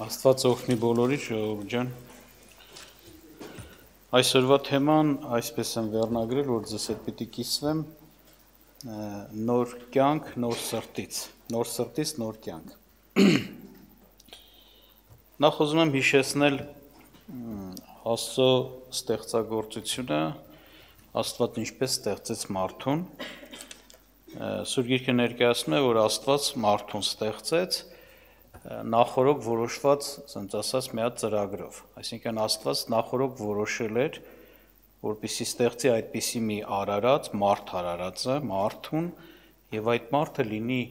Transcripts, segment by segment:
Աստված օգնի բոլորի ժողովուրդ ջան։ Այսօրվա թեման այսպես եմ վերնագրել, որ ձեզ հետ պիտի կիսվեմ նոր կյանք, նոր սրտից նոր կյանք։ Նախ ուզում եմ հիշեցնել Աստծո ստեղծագործությունը, Աստված ինչպես ստեղծեց մարդուն։ Սուրբ Գիրքը ներկայացնում է, որ Աստված մարդուն ստեղծեց նախորոք որոշված, ասենք ասած, մի հատ ծրագրով։ Այսինքն Աստված նախորոք որոշել էր, որպեսզի ստեղծի այդպիսի մի արարած, արարածը, մարդուն, եւ այդ մարդը լինի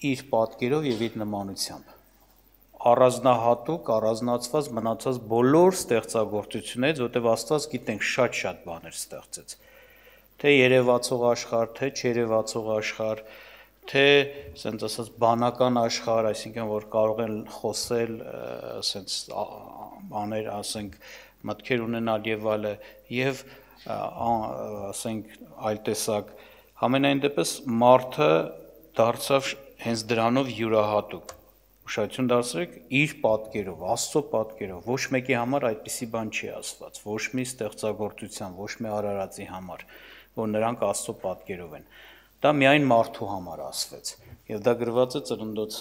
իր պատկերով եւ իր նմանությամբ։ Առանձնահատուկ, առանձնացված մնացած բոլոր ստեղծագործություններից, որտեղ Աստված գիտենք շատ բաներ ստեղծեց։ Թե երևացող աշխարհ, թե չերևացող աշխարհ, թե ասենք ասած բանական աշխարհ, այսինքն որ կարող են խոսել, ասենք բաներ, ասենք մտքեր ունենալ եւ այլը, եւ ասենք այլ տեսակ, համենայն դեպս մարդը դարձավ հենց դրանով յուրահատուկ։ Ուշադրություն դարձրեք իր պատկերով, Աստծո պատկերով, ոչ մեկի համար այդպիսի բան չի ասված, ոչ մի ստեղծագործության, ոչ մի արարածի համար, որ նրանք Աստծո պատկերով են։ Դա միայն մարդու համար ասվեց, եւ դա գրված է Ծննդոց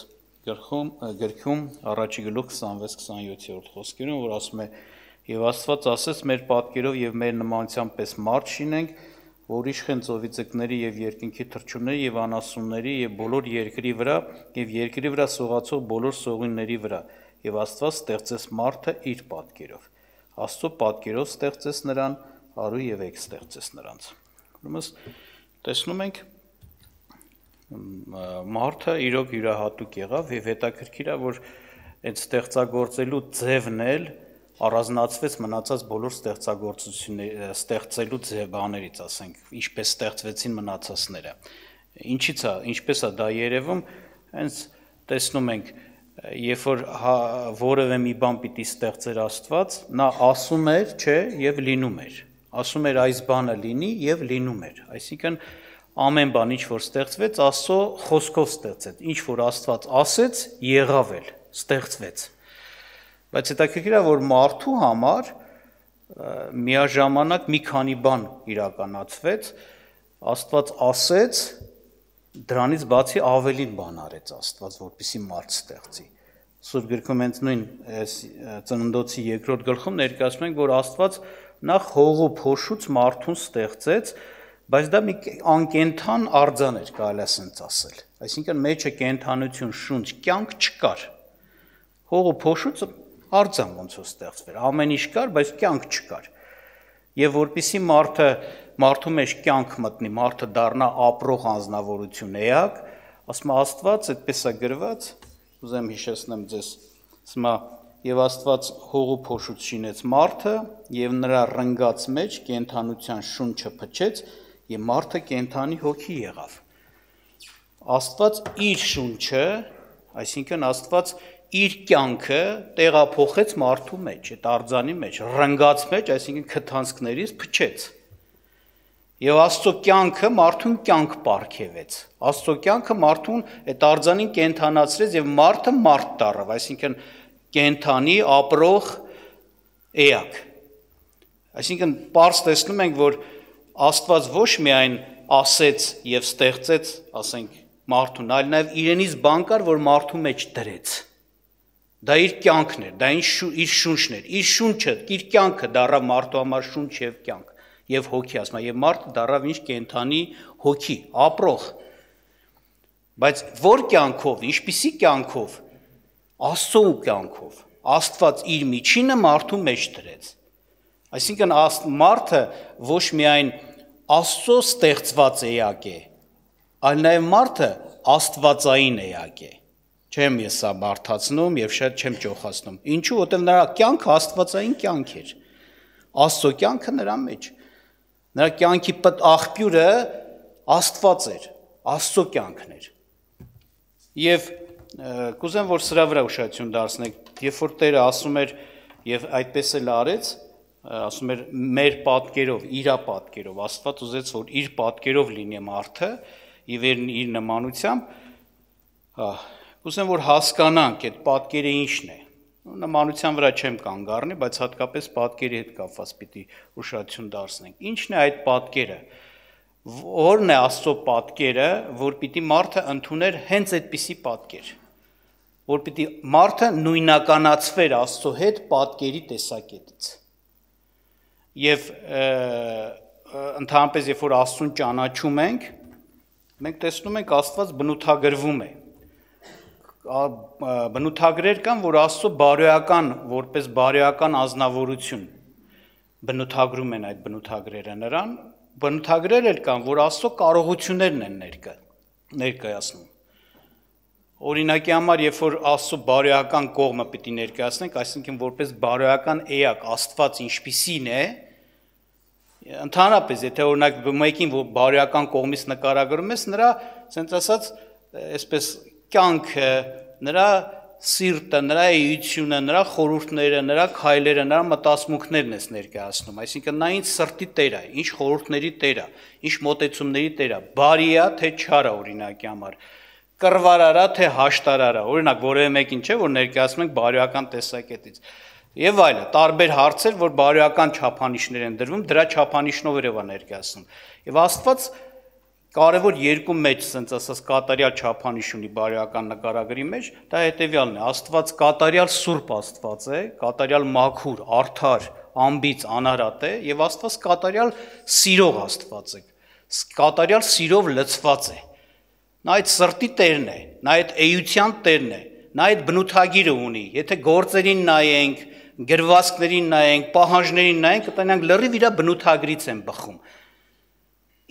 գրքում առաջի գլուխ 26-27 խոսքերում, որ ասում է. «Եվ Աստված ասեց մեր պատկերով եւ մեր նմանությամբ պես մարդ շինենք, որ իշխեն ծովի ձկների եւ երկնքի թռչունների եւ անասունների եւ բոլոր երկրի վրա եւ երկրի վրա սողացող բոլոր սողունների վրա, եւ Աստված ստեղծեց մարդը իր պատկերով։ Աստծո պատկերով ստեղծեց նրան, արու եւ եք ստեղծեց նրանց»։ Ուրեմն տեսնում ենք մարդը իրոք յուրահատուկ եղավ եւ հետաքրքիր է, որ այդ ստեղծագործելու ձևն էլ առանձնացվեց մնացած բոլոր ստեղծագործությունների ստեղծելու բաներից, ասենք, ինչպես ստեղծվեցին մնացածները։ Ինչպես է դա երևում, հենց տեսնում ենք, երբ որ որևէ մի բան պիտի ստեղծեր Աստված, նա ասում էր, չէ, եւ լինում էր։ Ասում էր այս բանը լինի եւ լինում էր։ Այսինքն ամեն բան, ինչ որ ստեղծվեց, Աստծո խոսքով ստեղծեց։ Ինչ որ Աստված ասեց, եղավ էլ, ստեղծվեց։ Բայց հետաքրքիր է, որ մարդու համար միաժամանակ մի քանի բան իրականացվեց, Աստված ասեց, դրանից բացի ավելին բան արեց Աստված, որպեսզի մարդ ստեղծի։ Սուրբ Գրքում հենց նույն Ծննդոցի 2-րդ գլխում ներկայացնում ենք, որ Աստված նախ հողու փոշուց մարդուն ստեղծեց, բայց դա մի անկենդան արձան էր, կարելի է ասենց ասել։ Այսինքն մեջը կենդանություն, շունչ, կյանք չկար։ Հողու փոշուց արձան ոնց որ ստեղծվեր, ամեն ինչ կար, բայց կյանք չկար։ Եվ որpիսի մարդու մեջ կյանք մտնի, մարդը դառնա ապրող անձնավորություն էակ, ասում է Աստված, այդպես է գրված, ուզեմ հիշեցնեմ ձեզ, ասում է եւ Աստված հողու փոշուց շինեց մարդը եւ նրա ռնգած մեջ կենդանության շունչը փչեց եւ մարդը կենդանի հոգի եղավ։ Աստված իր շունչը, այսինքն Աստված իր կյանքը տեղափոխեց մարդու մեջ, այդ արձանի մեջ, ռնգած մեջ, այսինքն քթանցքներից փչեց։ Եվ Աստծո կյանքը մարդուն կյանք պարգևեց։ Աստծո կյանքը մարդուն այդ արձանին կենդանացրեց եւ մարդը մարդ դառավ, այսինքն կենդանի ապրող էակ։ Այսինքն պարզ տեսնում ենք, որ Աստված ոչ միայն ասեց եւ ստեղծեց, ասենք, մարդուն, այլ նաեւ իրենից բան կար, որ մարդու մեջ դրեց։ Դա իր կյանքն էր, դա իր շունչն էր, իր շունչը, իր կյանքը դառավ մարդու համար շունչ եւ կյանք եւ հոգի, ասում է, եւ մարդը դառավ ինչ կենդանի հոգի, ապրող։ Բայց որ կյանքով, ինչպիսի կյանքով, Աստծո կյանքով, Աստված իր միջինը մարդու մեջ դրեց։ Այսինքն մարդը ոչ միայն Աստծո ստեղծված էակ է, այլ նաև մարդը աստվածային էակ է։ Չեմ ես սա բարդացնում եւ շատ չեմ ճոխացնում։ Ինչու՞, որտեղ նրա կյանքը աստվածային կյանք էր։ Աստծո կյանքը նրա մեջ։ Նրա կյանքի աղբյուրը Աստված էր, Աստծո կյանքն էր։ Եվ կուզեմ, որ սրա վրա ուշադրություն դարձնեք, երբ որ Տերը ասում էր եւ այդպես էլ արեց, ասում էր մեր պատկերով, իր պատկերով, Աստված ուզեց, որ իր պատկերով լինի մարդը եւ իր նմանությամբ, Կուզեմ որ հասկանանք այդ պատկերը ինչն է։ Նմանության վրա չեմ կանգ առնի, բայց հատկապես պատկերի հետ կապված պիտի ուշադրություն դարձնենք։ Ինչն է այդ պատկերը։ Որն է Աստծո պատկերը, որ պիտի մարդը ընդուներ հենց այդպիսի պատկեր, որ պիտի մարդը նույնականացվեր Աստծո հետ պատկերի տեսակետից։ Եվ ընդհանրապես երբ որ Աստծուն ճանաչում ենք, մենք տեսնում ենք Աստված բնութագրվում է։ Բնութագրեր կան, որ Աստծո բարոյական, որպես բարոյական ազնվորություն բնութագրում են այդ բնութագրերը նրան, բնութագրեր էլ կան, որ Աստծո կարողություններն են ներկայացնում։ Օրինակի համար, երբ որ Աստծո բարոյական կողմը պիտի ներկայացնենք, այսինքն որպես բարոյական էակ Աստված ինչպիսին է, ընդհանրապես, եթե օրինակ մեկին որ բարոյական կողմից նկարագրում ես, նրա, ասենց ասած, այսպես կյանքը, նրա սիրտը, նրա էությունը, նրա խորհուրդները, նրա քայլերը, նրա մտածմունքներն ես ներկայացնում, այսինքն նա ինչ սրտի տեր է, ինչ խորհուրդների տեր է, ինչ մոտեցումների տեր է, բարի է, թե չար է օրինակի համար, կռվարարա, թե հաշտարարա, օրինակ որևէ մեկին չէ, որ ներկայացնում ենք բարոյական տեսակետից։ Եվ այլը, տարբեր հարցեր, որ բարոյական չափանիշներ են դրվում, դրա չափանիշներով է ներկայացնում։ Եվ Աստված կարևոր երկու մեջ, ասենց ասած, կատարյալ չափանիշ ունի բարոյական նկարագրի մեջ, դա հետևյալն է, Աստված կատարյալ սուրբ Աստված է, կատարյալ մաքուր, արդար, անբիծ, անարատ է, եւ Աստված կատարյալ սիրող Աստված է, կատարյալ սիրով լցված է։ Նա այդ սրտի տերն է, նա այդ էության տերն է, նա այդ բնութագիրը ունի, եթե գործերին նայենք, գրվածքներին նայենք, պահանջներին նայենք, կտանանք լրիվ իր բնութագրից են բխում։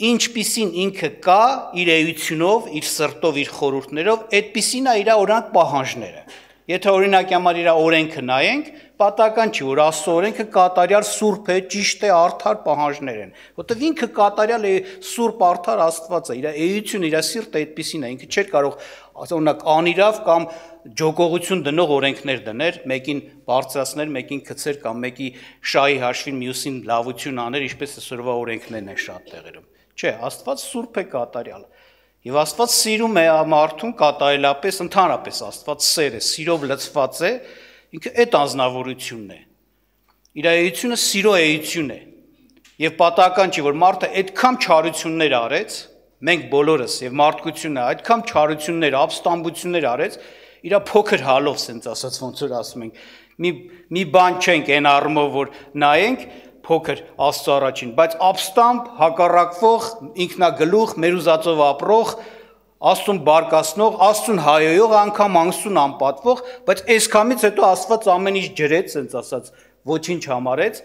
Ինչպիսին ինքը կա իր էությունով, իր սրտով, իր խորհուրդներով, այդպիսին է իր օրինակ պահանջները։ Եթե օրինակի համար իր օրենքը նայենք, պատահական չի, որ Աստծո օրենքը կատարյալ սուրբ է, ճիշտ է, արդար պահանջներ են, որտեղ ինքը կատարյալ է սուրբ արդար Աստված է, իր էությունը, իր սիրտը այդպիսին է, ինքը չէր կարող օրինակ անիրավ կամ ջոկողություն դնող օրենքներ դներ, մեկին բարձրացներ, մեկին քցեր կամ մեկի շահի հաշվին մյուսին լավություն աներ, ինչպես այսօրվա օրենքներն են շատ տեղերում։ Չէ, Աստված սուրբ է կատարյալ։ Եվ Աստված սիրում է մարդուն կատարելապես, ընդհանրապես Աստված սեր է, սիրով լցված է, ինքը այդ անձնավորությունն է։ Իր էությունը սիրո էություն է։ Եվ պատահական չի, որ մարդը այդքան չարություններ արեց, մենք բոլորս եւ մարդկությունը այդքան չարություններ, ապստամբություններ արեց, իր փոքր հալով, ասենց ասած, ոնց որ ասում ենք, մի բան չենք այն առումով, որ նայենք փոքր Աստծո առաջին, բայց ապստամբ, հակառակվող, ինքնագլուխ, մեր ուզածով ապրող, Աստծուն բարկացնող, Աստծուն հայոյող, անգամ Աստծուն անպատվող, բայց այսքամից հետո Աստված ամեն ինչ ջրեց, ասենց ասած, ոչինչ համարեց,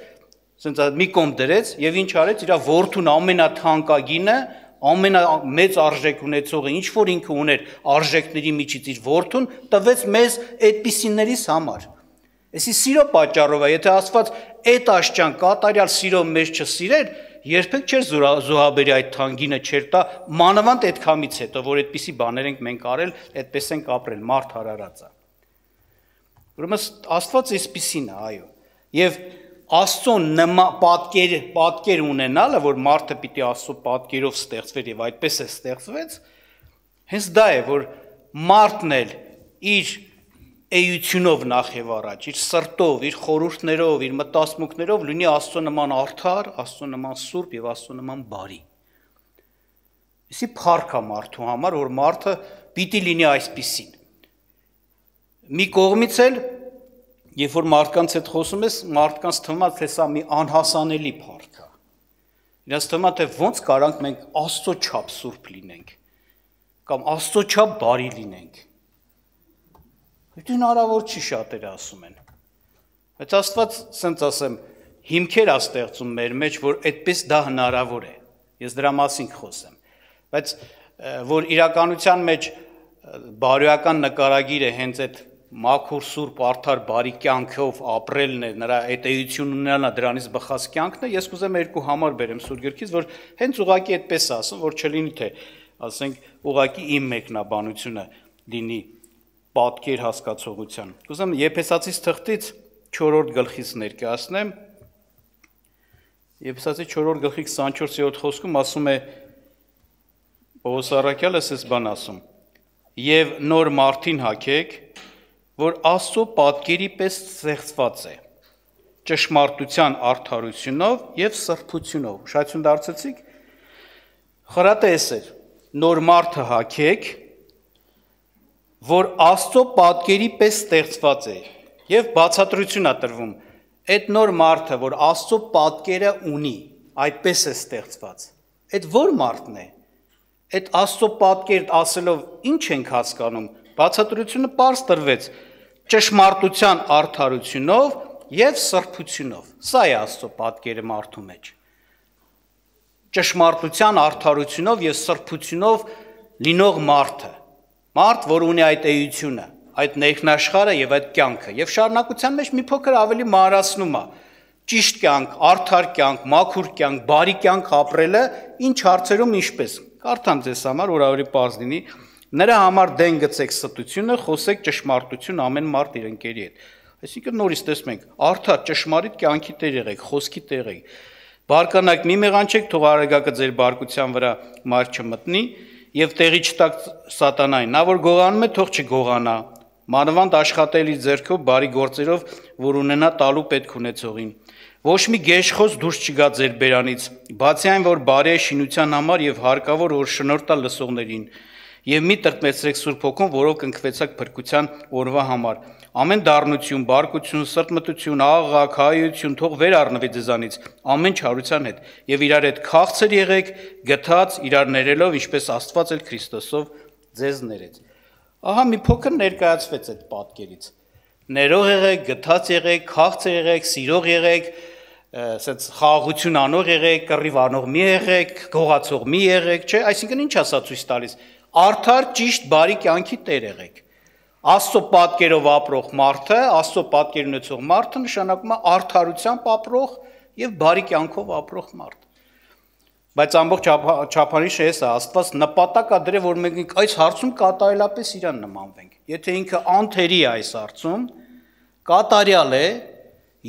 ասենց մի կողմ դրեց եւ ինչ արեց, իր որդուն ամենաթանկագինը, ամենամեծ արժեք ունեցողը, ինչ որ ինքը ուներ արժեքների միջից իր որդուն, տվեց մեզ այդպիսիներիս համար։ Այսի սիրո պատճառով է, եթե Աստված այդ աշճան կատարյալ սիրով մեզ չսիրեր, երբեք չէր զոհաբերի այդ թանկինը չէր տա, մանավանդ այդքամից հետո, որ այդպիսի բաներ ենք մենք արել, այդպես ենք ապրել, մարդ հարարած է։ Ուրեմն Աստված այսպիսին է, այո։ Եվ Աստծո պատկեր ունենալը, որ մարդը պիտի Աստծո պատկերով ստեղծվեր եւ այդպես է ստեղծվեց, հենց դա է, որ մարդն էլ իր էությունով նախ եւ առաջ, իր սրտով, իր խորհուրդներով, իր մտածմունքներով լինի Աստծո նման արդար, Աստծո նման սուրբ եւ Աստծո նման բարի։ Իսի փառք է մարդու համար, որ մարդը պիտի լինի այսպիսին։ Մի կողմից էլ, երբ որ մարդկանց հետ խոսում ես, մարդկանց թվում է, թե սա մի անհասանելի փառք է։ Իրենց թվում է, թե ոնց կարանք մենք Աստծո չափ սուրբ լինենք, կամ Աստծո չափ բարի լինենք։ Դա հնարավոր չի, շատերը ասում են։ Բայց Աստված, ասենց ասեմ, հիմքեր է ստեղծում մեր մեջ, որ այդպես դա հնարավոր է։ Ես դրա մասին խոսեմ։ Բայց որ իրականության մեջ բարոյական նկարագիրը հենց այդ մաքուր սուրբ արդար բարի կյանքով ապրելն է, նրա այդ էությունն ունենալն է, դրանից բխած կյանքն է, ես կուզեմ երկու համար բերեմ Սուրբ Գրքից, որ հենց ուղղակի այդպես ասում, որ չլինի թե, ասենք, ուղղակի իմ մեկնաբանությունը լինի պատկեր հասկացողության։ Կուզեմ Եփեսացիս թղթից 4-րդ գլխից ներկայացնեմ։ Եփեսացի 4-րդ գլխի 24-րդ խոսքում ասում է Պողոս առաքյալը էս բան ասում. եւ նոր մարդին հագեք, որ Աստծո պատկերի պես ստեղծված է, ճշմարտության արդարությունով եւ սրբությունով։ Ուշադրություն դարձեցիք, խրատեսեր, նոր մարդը հագեք, որ Աստծո պատկերի պես ստեղծված է, եւ բացատրություն է տրվում, այդ նոր մարդը, որ Աստծո պատկերը ունի, այդպես է ստեղծված։ Այդ որ մարդն է։ Այդ Աստծո պատկեր ասելով ինչ ենք հասկանում, բացատրությունը պարզ տրվեց, ճշմարտության արդարությունով եւ սրբությունով։ Սա է Աստծո պատկերը մարդու մեջ։ Ճշմարտության արդարությունով եւ սրբությունով լինող մարդը, մարդ, որ ունի այդ էությունը, այդ ներքնաշխարհը եւ այդ կյանքը, եւ շարունակության մեջ մի փոքր ավելի մանրացնում է, ճիշտ կյանք, արդար կյանք, մաքուր կյանք, բարի կյանք ապրելը ինչ հարցերում ինչպես։ Կարդամ ձեզ համար, որ ավելի պարզ լինի, նրա համար դեն գցեք ստությունը, խոսեք ճշմարտություն ամեն մարդ իր ընկերի հետ։ Այսինքն նորից տեսնում ենք, արդար ճշմարիտ կյանքի տեր եղեք, խոսքի տեր եղեք։ Բարկանաք մի մեղանչեք, թող արագակը ձեր բարկության վրա մար չմտնի եւ տեղի չտակ սատանային։ Նա որ գողանում է, թող չգողանա։ Մանավանդ աշխատելի ձեռքով բարի գործերով, որ ունենա տալու պետք ունեցողին։ Ոչ մի գեշխոս դուրս չգա ձեր բերանից, բացի այն, որ բարի է շինության համար եւ հարկավոր որ շնորհ տա լսողներին։ Եվ մի տրտմեցրեք Սուրբ Հոգուն, որով կնքվեցաք փրկության օրվա համար։ Ամեն դառնություն, բարկություն, սրտմտություն, աղաղակ, հայություն թող վեր առնվի ձեզանից, ամեն չարության հետ, եւ իրար հետ քաղցր եղեք, գթած, իրար ներելով, ինչպես Աստված էլ Քրիստոսով ձեզ ներեց։ Ահա մի փոքր ներկայացվեց այդ պատկերից։ Ներող եղեք, գթած եղեք, քաղցր եղեք, սիրող եղեք, ասած խաղաղություն անող եղեք, կռիվ անող մի եղեք, գողացող մի եղեք, չէ, այսինքն ինչ ասա ցույց տալիս։ Արդար ճիշտ բարի կյանքի տեր եղեք։ Աստծո պատկերով ապրող մարդը, Աստծո պատկեր ունեցող մարդը նշանակում է արդարությամբ ապրող եւ բարի կյանքով ապրող մարդ։ Բայց ամբողջ չափանիշը էս է, Աստված նպատակ է դրել, որ մենք այս հարցում կատարելապես իրան նմանվենք։ Եթե ինքը անթերի է այս հարցում, կատարյալ է,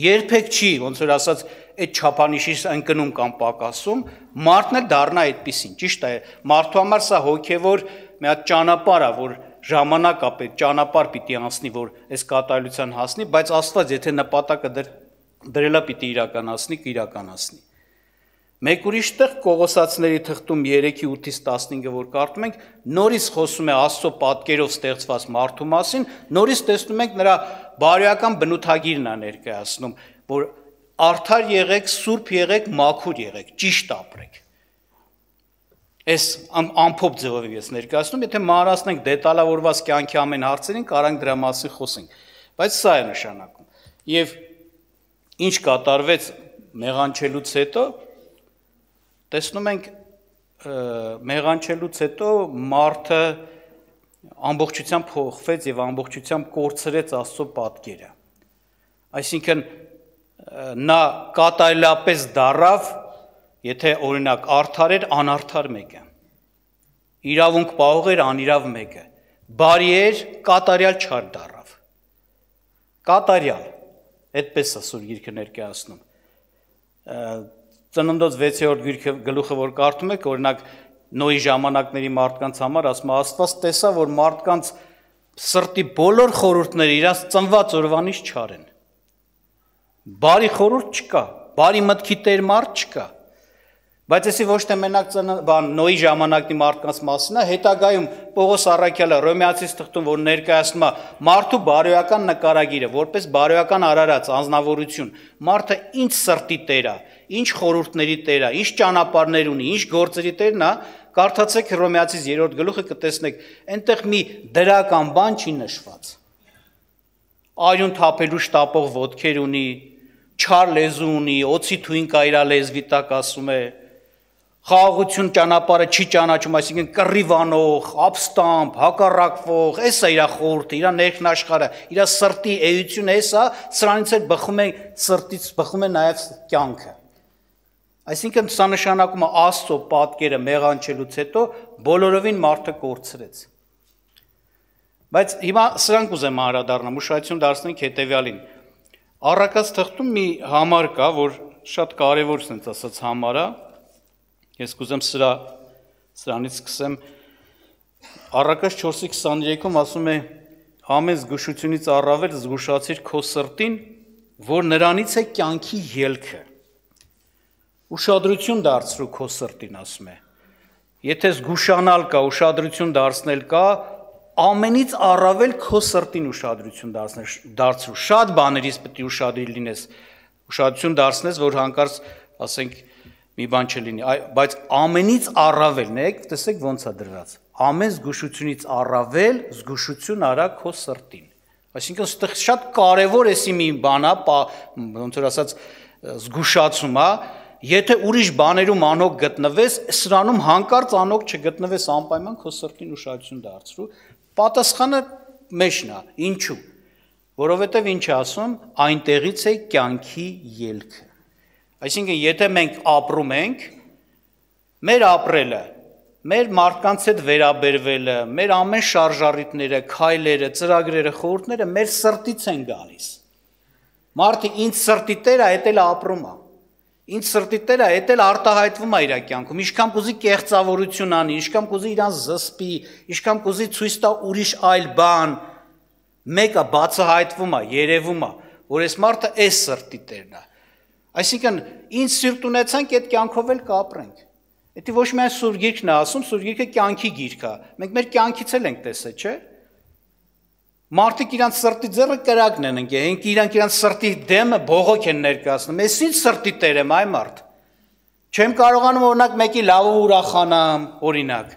երբեք չի, ոնց որ ասած, այդ չափանիշի ընկնում կամ պակասում, մարդն էլ դառնա այդպեսին, ճիշտ է, մարդու համար սա հոգևոր մի հատ ճանապարհ է, որ ժամանակ է պետք, ճանապարհ պիտի անցնի, որ այս կատարելության հասնի, բայց Աստված եթե նպատակը դրելա պիտի իրականացնի, կիրականացնի։ Մեկ ուրիշ տեղ Կողոսացիների թղթում 3:8-ից 15-ը որ կարդում ենք, նորից խոսում է Աստծո պատկերով ստեղծված մարդու մասին, նորից տեսնում ենք նրա բարոյական բնութագիրն է ներկայացնում, որ արդար եղեք, սուրբ եղեք, մաքուր եղեք, ճիշտ ապրեք։ Այս ամփոփ ձևով ես ներկայացնում, եթե մանրացնենք դետալավորված կյանքի ամեն հարցերին, կարանք դրա մասին խոսենք, բայց սա է նշանակում։ Եվ ինչ կատարվեց մեղանչելուց հետո, տեսնում ենք մեղանչելուց հետո մարդը ամբողջությամբ փոխվեց եւ ամբողջությամբ կորցրեց Աստծո պատկերը։ Այսինքն նա կատարելապես դառավ, եթե օրինակ արդար էր, անարդար մեկը, իրավունք պահող էր, անիրավ մեկը, բարի էր, կատարյալ չար դառավ, կատարյալ, այդպես է Սուրբ Գիրքը ներկայացնում։ Ծննդոց 6-րդ գլուխը որ կարդում եք, օրինակ Նոյի ժամանակների մարդկանց համար ասում է Աստված տեսա, որ մարդկանց սրտի բոլոր խորհուրդները իրաց ծնված օրվանից չար են։ Բարի խորհուրդ չկա, բարի մտքի տեր մարդ չկա։ Բայց էսի ոչ թե մենակ Նոյի ժամանակի մարդկանց մասին է, հետագայում Պողոս առաքյալը Հռոմեացիս թղթում որ ներկայացնում է մարդու բարոյական նկարագիրը, որպես բարոյական արարած անձնավորություն, մարդը ինչ սրտի տեր է, ինչ խորհուրդների տեր է, ինչ ճանապարհներ ունի, ինչ գործերի տերն է, կարդացեք Հռոմեացիս 3-րդ գլուխը կտեսնեք, այնտեղ մի դրական բան չի նշված։ Արյուն թափելու շտապող ոտքեր ունի, չար լեզու ունի, օծի թույն կա իր լեզվի տակ ասում է, խաղաղություն ճանապարհը չի ճանաչում, այսինքն կռիվանող, ապստամբ, հակառակվող, էս է իր խորհուրդը, իր ներքնաշխարհը, իր սրտի էությունը էս է, սրանից էլ բխում է սրտից, բխում է նաև կյանքը։ Այսինքն սա նշանակում է Աստծո պատկերը մեղանչելուց հետո բոլորովին մարդը կորցրեց։ Բայց հիմա սրանք ուզեմ անդրադառնամ, ուշադրություն դարձնենք հետևյալին։ Առակաց թղթում մի համար կա, որ շատ կարևոր sense ասած համար է։ Ես կուզեմ սրանից սկսեմ Առակաց 4:23-ում ասում է ամեն զգուշությունից առավել զգուշացիր քո սրտին, որ նրանից է կյանքի ելքը։ Ուշադրություն դարձրու քո սրտին, ասում է։ Եթե զգուշանալ կա, ուշադրություն դարձնել կա, ամենից առավել քո սրտին ուշադրություն դարձրու։ Շատ բաներից պետք է ուշադիր լինես, ուշադրություն դարձնես, որ հանկարծ, ասենք, մի բան չլինի, բայց ամենից առավել, նայեք, տեսեք ոնց է դրված։ Ամեն զգուշությունից առավել զգուշություն արա քո սրտին։ Այսինքն այստեղ շատ կարևոր է մի բան է, ոնց որ ասած, զգուշացում է, եթե ուրիշ բաներում անհոգ գտնվես, սրանում հանկարծ անհոգ չգտնվես, անպայման քո սրտին ուշադրություն դարձրու։ Պատասխանը մեջն է, ինչու։ Որովհետև ինչ է ասում, այնտեղից է կյանքի ելքը։ Այսինքն, եթե մենք ապրում ենք, մեր ապրելը, մեր մարդկանց հետ վերաբերվելը, մեր ամեն շարժառիթները, քայլերը, ծրագրերը, խորհուրդները մեր սրտից են գալիս։ Մարդը ինձ սրտի տեր է, այդ էլ ապրում է։ Ինձ սրտի տեր է, այդ էլ արտահայտվում է իր կյանքում։ Ինչքան կուզի կեղծավորություն անի, ինչքան կուզի իրան զսպի, ինչքան կուզի ցույց տա ուրիշ այլ բան, մեկը բացահայտվում է, երևում է, որ այս մարդը այս սրտի տերն է։ Այսինքն, ինձ սիրտ ունեցանք, այդ կյանքով էլ կապրենք։ Դա ոչ միայն Սուրբ Գիրքն է ասում, Սուրբ Գիրքը կյանքի գիրք է։ Մենք մեր կյանքից էլ ենք տեսել, չէ՞։ Մարդիկ իրանց սրտի ձեռը կրակն են ընկել, իրանք իրանց սրտի դեմը բողոք են ներկայացնում։ Ես ինչ սրտի տեր եմ, այ մարդ։ Չեմ կարողանում օրինակ մեկի լավը ուրախանամ, օրինակ։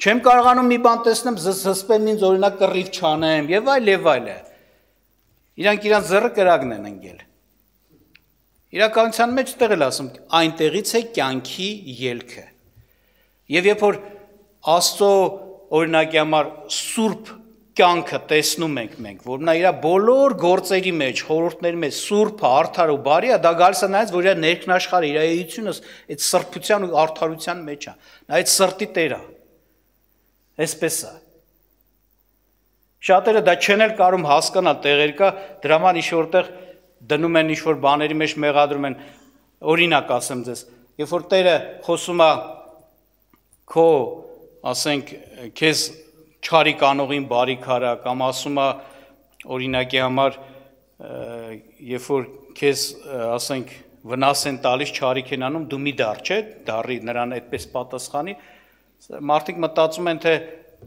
Չեմ կարողանում մի բան տեսնեմ, զսպեմ ինձ օրինակ կռիվ չանեմ, եւ այլ եւ այլը։ Իրանք իրանց ձեռը կրակն են ընկել։ Իրականության մեջ տեղ էլ ասում, այնտեղից է կյանքի ելքը։ Եվ երբ որ Աստծո օրինակի համար սուրբ կյանքը տեսնում ենք մենք, որ նա իր բոլոր գործերի մեջ, խորհուրդների մեջ սուրբ է, արդար ու բարի է, դա գալիս է նայած, որ իր ներքնաշխարհը, իր էությունը այդ սրբության ու արդարության մեջ է։ Նա այդ սրտի տեր է։ Այսպես է։ Շատերը դա չեն էլ կարող հասկանալ, տեղեր կա, դրա համար ինչ որտեղ դնում են ինչ-որ բաների մեջ մեղադրում են, օրինակ ասեմ ձեզ, երբ որ Տերը խոսում է քո, ասենք, քեզ չարիք անողին բարիք արա, կամ ասում է օրինակի համար, երբ որ քեզ, ասենք, վնաս են տալիս, չարիք են անում, դու մի դար, չէ, դարի նրան այդպես պատասխանի, մարդիկ մտածում են, թե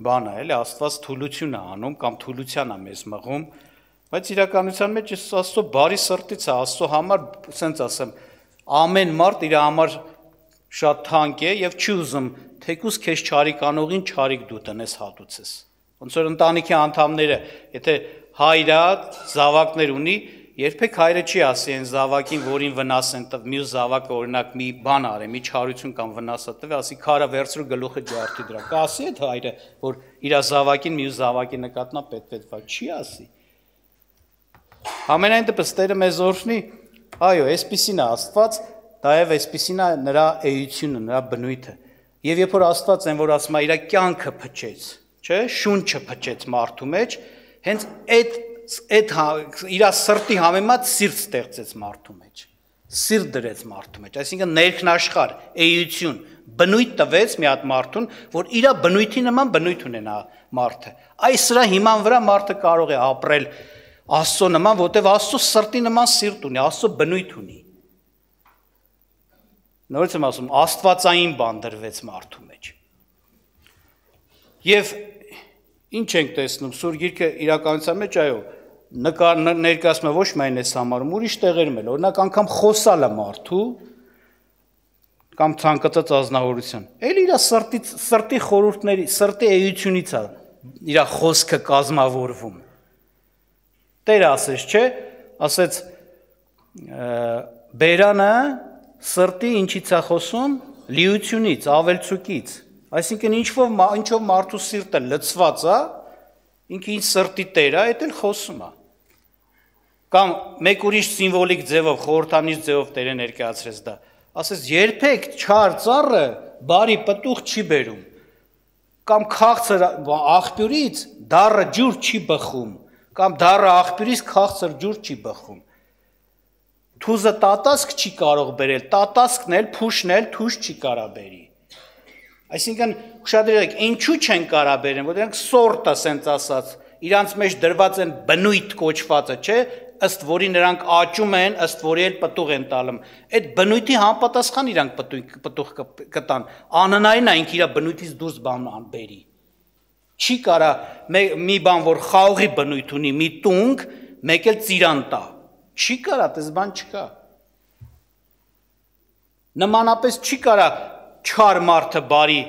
բան է, էլի Աստված թուլություն է անում, կամ թուլության է մեզ մղում, բայց իրականության մեջ Աստծո բարի սրտից է, Աստծո համար, ասենց ասեմ, ամեն մարդ իր համար շատ թանկ է եւ չի ուզում թեկուզ քեզ չարիք անողին չարիք դու տնես հատուցես։ Ոնց որ ընտանիքի անդամները, եթե հայրը զավակներ ունի, երբեք հայրը չի ասի այն զավակին, որին վնաս են տվել, մյուս զավակը օրինակ մի բան արի, մի չարություն կամ վնաս է տվել, ասի քարը վերցրու գլուխը ջարդի դրա։ Կասի այդ հայրը, որ իր զավակին մյուս զավակի նկատմամբ պետք չի ասի։ Ամենայն դեպս Տերը մեզ օրհնի, այո, այսպիսին է Աստված, դայև այսպիսին է նրա էությունը, նրա բնույթը։ Եվ երբ որ Աստված են, որ ասում է իր կյանքը փչեց, չէ, շունչը փչեց մարդու մեջ, հենց այդ իր սրտի համեմատ սիրտ ստեղծեց մարդու մեջ, սիրտ դրեց մարդու մեջ, այսինքն ներքնաշխարհ, էություն, բնույթ տվեց մի հատ մարդուն, որ իր բնույթի նման բնույթ ունենա մարդը։ Այս սրա հիման վրա մարդը կարող է ապրել Աստծո նման, որտեղ Աստծո սրտի նման սիրտ ունի, Աստծո բնույթ ունի։ Նորից եմ ասում, աստվածային բան դրվեց մարդու մեջ։ Եվ ինչ ենք տեսնում, Սուրբ Գիրքը իրականության մեջ, այո, ներկայացնում է ոչ միայն այս համարում, ուրիշ տեղերում էլ, օրինակ անգամ խոսալը մարդու կամ ցանկացած ազնվորության։ Էլ իր սրտի խորհուրդների, սրտի էությունից է իր խոսքը կազմավորվում։ Տերը ասեց, չէ, ասեց բերանը սրտի ինչից է խոսում, լիությունից, ավելցուկից, այսինքն ինչով մարդու սիրտը լցված է, ինքը ինչ սրտի տեր է, այդ էլ խոսում է։ Կամ մեկ ուրիշ սիմվոլիկ ձևով, խորհրդանիշ ձևով Տերը ներկայացրեց դա, ասեց երբեք չար ծառը բարի պտուղ չի բերում, կամ քաղցր աղբյուրից դառը ջուր չի բխում, կամ դառը աղբյուրից քաղցր ջուր չի բխում։ Թուզը տատասկ չի կարող բերել, տատասկն էլ, փուշն էլ թուզ չի կարա բերի։ Այսինքն ուշադրեք, ինչու չեն կարա բերեն, որ դրանք սորտը սենց ասած, իրանց մեջ դրված են բնույթ կոչվածը, չէ, ըստ որի նրանք աճում են, ըստ որի էլ պտուղ են տալում։ Այդ բնույթի համապատասխան իրանք պտուղ կտան։ Անհնարին է ինքը իր բնույթից դուրս բան բերի։ Չի կարա մի բան, որ խաղողի բնույթ ունի, մի տունգ, մեկ էլ ծիրան տա։ Չի կարա, դες բան չկա։ Նմանապես չի կարա չար մարդը բարի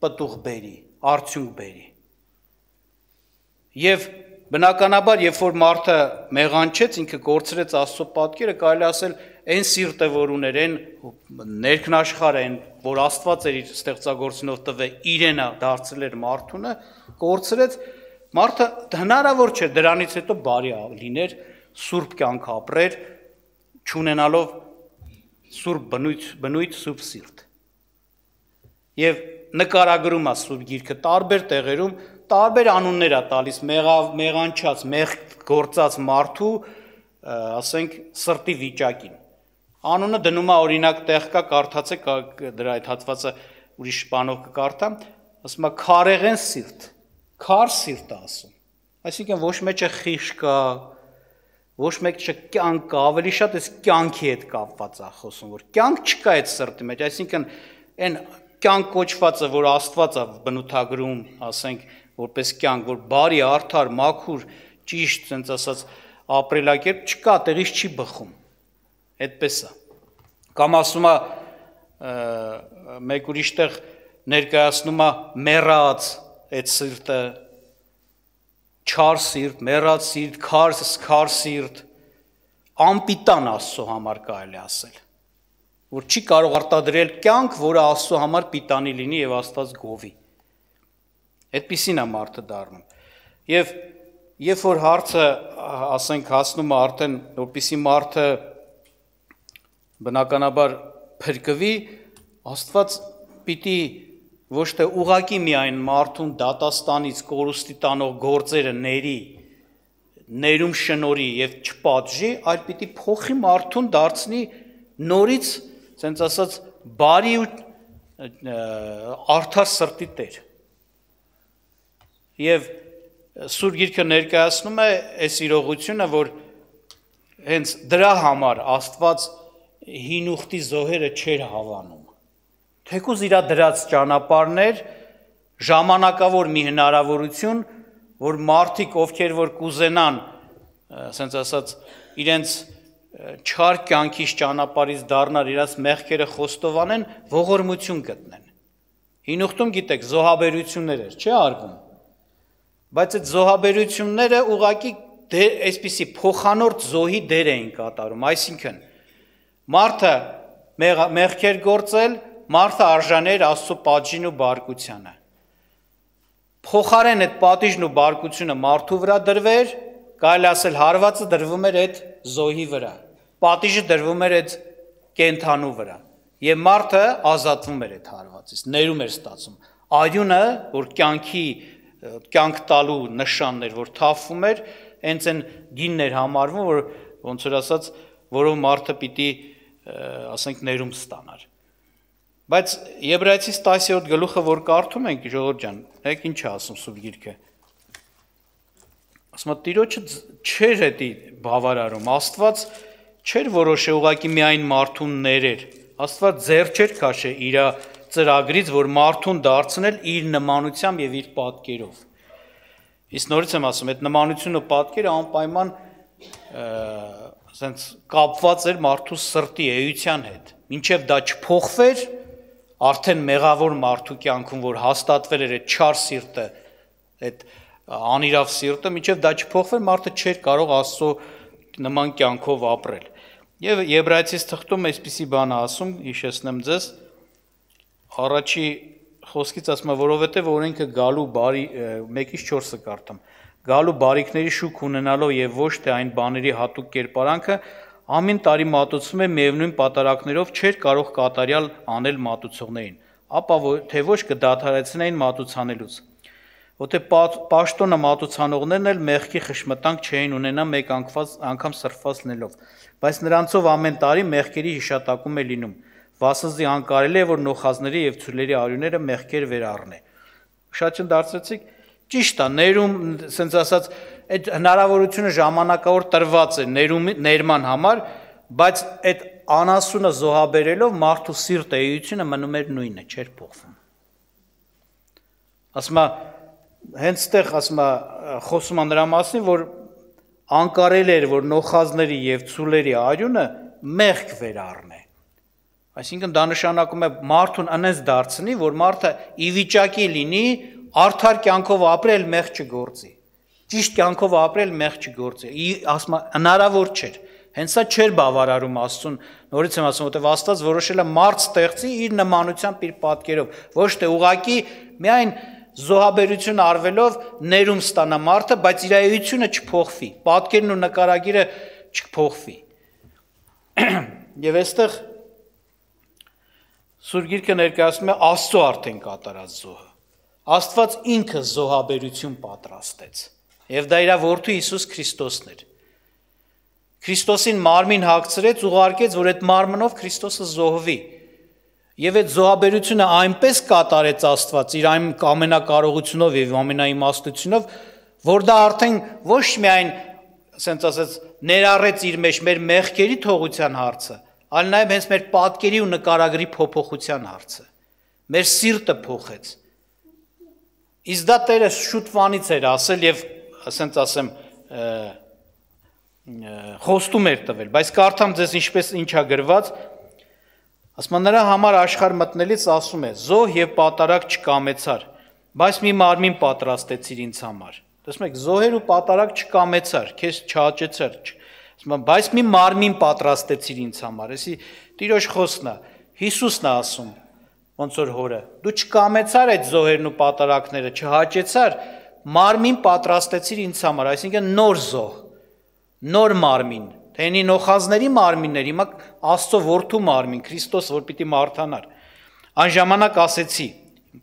պտուղ բերի, արդյունք բերի։ Եվ բնականաբար, երբ որ մարդը մեղանչեց, ինքը կորցրեց Աստծո պատկերը, կարելի ասել, այն սիրտը, որ ուներ, այն ներքնաշխարհը, այն, որ Աստված էր իր ստեղծագործությունով տվել, իրենը դարձրել էր մարդունը, կորցրեց, մարդը հնարավոր չէ դրանից հետո բարի լիներ, սուրբ կյանք ապրեր, չունենալով սուրբ բնույթ, սուրբ սիրտ։ Եվ նկարագրում է սուրբ գիրքը տարբեր տեղերում, տարբեր անուններ է տալիս մեղանչած, մեղ գործած մարդու, ասենք, սրտի վիճակին։ Անունը դնում է օրինակ տեղ կա, կարդացեք դրա այդ հատվածը ուրիշ բանով կկարդամ, ասում է քարեղեն սիրտ, քար սիրտ է ասում։ Այսինքն ոչ մեջը խիղճ կա, ոչ մեջը կյանք կա, ավելի շատ էս կյանքի հետ կապված է խոսում, որ կյանք չկա այդ սրտի մեջ, այսինքն այն կյանք կոչվածը, որ Աստված է բնութագրում, ասենք, որպես կյանք, որ բարի, արդար, մաքուր, ճիշտ, ցենց ասած, ապրելակերպ չկա, տեղից չի բխում։ Այդպես է։ Կամ ասում է մեկ ուրիշ տեղ ներկայացնում է մեռած այդ սիրտը, չար սիրտ, մեռած սիրտ, քար սիրտ, անպիտան Աստծո համար կարելի ասել, որ չի կարող արտադրել կյանք, որը Աստծո համար պիտանի լինի եւ Աստված գովի։ Այդպիսին է մարդը դառնում։ Եվ երբ որ հարցը, ասենք, հասնում է արդեն, որպեսզի մարդը բնականաբար փրկվի, Աստված պիտի ոչ թե ուղակի միայն մարդուն դատաստանից կորուստի տանող գործերը ներում շնորի եւ չպատժի, այլ պիտի փոխի մարդուն դարձնի նորից, ցենց ասած, բարի ու արդար սրտի տեր։ Եվ Սուրբ Գիրքը ներկայացնում է այս իրողությունը, որ հենց դրա համար Աստված հին ուխտի զոհերը չէր հավանում։ Թեկուզ իր դրած ճանապարհներ, ժամանակավոր մի հնարավորություն, որ մարդիկ, ովքեր որ կուզենան, ասենց ասած, իրենց չար կյանքից ճանապարհից դառնալ, իրաց մեղքերը խոստովանեն, ողորմություն գտնեն։ Հին ուխտում գիտեք, զոհաբերություններ էր, չէ՞ արվում։ Բայց այդ զոհաբերությունները ուղղակի այսպիսի փոխանորդ զոհի դեր էին կատարում, այսինքն մարդը մեղքեր գործել, մարդը արժաներ Աստծո պատժին ու բարկությանը։ Փոխարեն այդ պատիժն ու բարկությունը մարդու վրա դրվեր, կարելի ասել հարվածը դրվում էր այդ զոհի վրա, պատիժը դրվում էր այդ կենդանու վրա, եւ մարդը ազատվում էր այդ հարվածից, ներում էր ստացում։ Արյունը, որ կյանք տալու նշանն էր, որ թափվում էր, հենց այն գինն էր համարվում, որ ոնց որ ասած, որով մարդը պիտի, ասենք, ներում ստանար։ Բայց Եբրայեցիս 10-րդ գլուխը, որ կարդում ենք, ժողովուրդ ջան, եք ինչ է ասում Սուրբ Գիրքը։ Ասում է, Տիրոջը չէր էդի բավարարում, Աստված չէր որոշե ուղղակի միայն մարդուն ներեր, Աստված ձեռ չէր քաշե իր ծրագրից, որ մարդուն դարձնել իր նմանությամբ եւ իր պատկերով։ Իսկ նորից եմ ասում, այդ նմանությունն ու պատկերը անպայման ասենց կապված էր մարդու սրտի էության հետ։ Մինչև դա չփոխվեր, արդեն մեղավոր մարդու կյանքում, որ հաստատվել էր այդ չար սիրտը, այդ անիրավ սիրտը, մինչև դա չփոխվեր, մարդը չէր կարող Աստծո նման կյանքով ապրել։ Եվ Եբրայեցիս թղթում այսպիսի բան է ասում, հիշեցնեմ ձեզ, առաջի խոսքից ասում է, որովհետև օրենքը գալու բարի 1-4-ը կարդամ, գալու բարիքների շուք ունենալով եւ ոչ թե այն բաների հատուկ կերպարանքը ամեն տարի մատուցվում է միևնույն պատարակներով չէր կարող կատարյալ անել մատուցողներին, ապա թե ոչ կդադարեցնեին մատուցանելուց։ Որտե պաշտոնը մատուցանողներն էլ մեղքի խշմտանք չէին ունենա մեկ անգամ սրբված լինելով, բայց նրանցով ամեն տարի մեղքերի հիշատակում է լինում, վասնզի անկարելի է, որ նոխազների եւ ցուլերի արյունները մեղքեր վերառնե։ Շատ չն դարձրեցիք, ճիշտ է, ներում, ասենց ասած, այդ հնարավորությունը ժամանակավոր տրված է ներման համար, բայց այդ անասունը զոհաբերելով մարդու սիրտ էությունը մնում էր նույնը, չէր փոխվում։ Ասում է, հենց այդտեղ ասում է, խոսում է նրա մասին, որ անկարել էր, որ նոխազների եւ ցուլերի արյունը մեղք վերառնե։ Այսինքն դա նշանակում է մարդուն անենց դարձնի, որ մարդը ի վիճակի լինի արդար կյանքով ապրել, մեղք չգործի։ Ճիշտ կյանքով ապրել, մեղք չգործի։ Ասում է, հնարավոր չէր։ Հենց սա չէր բավարարում Աստծուն, նորից եմ ասում, որտեղ Աստված որոշել է մարդ ստեղծի իր նմանությամբ, իր պատկերով, ոչ թե ուղղակի միայն զոհաբերություն արվելով ներում ստանա մարդը, բայց իր էությունը չփոխվի, պատկերն ու նկարագիրը չփոխվի։ Եվ այստեղ Սուրբ Գիրքը ներկայացնում է Աստծո արդեն կատարած զոհը։ Աստված ինքը զոհաբերություն պատրաստեց, եւ դա իր որդու Հիսուս Քրիստոսն էր։ Քրիստոսին մարմին հագցրեց, ուղարկեց, որ այդ մարմնով Քրիստոսը զոհվի։ Եվ այդ զոհաբերությունը այնպես կատարեց Աստված իր այն ամենակարողությունով եւ ամենաիմաստությունով, որ դա արդեն ոչ միայն, ասենց ասած, ներառեց իր մեջ մեր մեղքերի թողության հարցը, այլ նաեւ հենց մեր պատկերի ու նկարագրի փոփոխության հարցը։ Մեր սիրտը փոխեց։ Իսկ դա Տերը շուտվանից էր ասել եւ, ասենց ասեմ, խոստում էր տվել, բայց կարդամ ձեզ ինչա գրված, ասում է նրա համար աշխարհ մտնելիս ասում է. զոհ եւ պատարագ չկամեցար, բայց մի մարմին պատրաստեցիր ինձ համար։ Տեսնում եք, զոհեր ու պատարագ չկամեցար, քեզ չհաճեցար, ասում է, բայց մի մարմին պատրաստեցիր ինձ համար։ Էսի Տիրոջ խոսքն է, Հիսուսն է ասում, ոնց որ հորը, դու չկամեցար այդ զոհերն ու պատարագները, չհաճեցար, մարմին պատրաստեցիր ինձ համար, այսինքն նոր զոհ, նոր մարմին, թե ինի նոխազների մարմիններ, հիմա Աստծո որդու մարմին, Քրիստոս, որ պիտի մարդանար։ Այն ժամանակ ասեցի,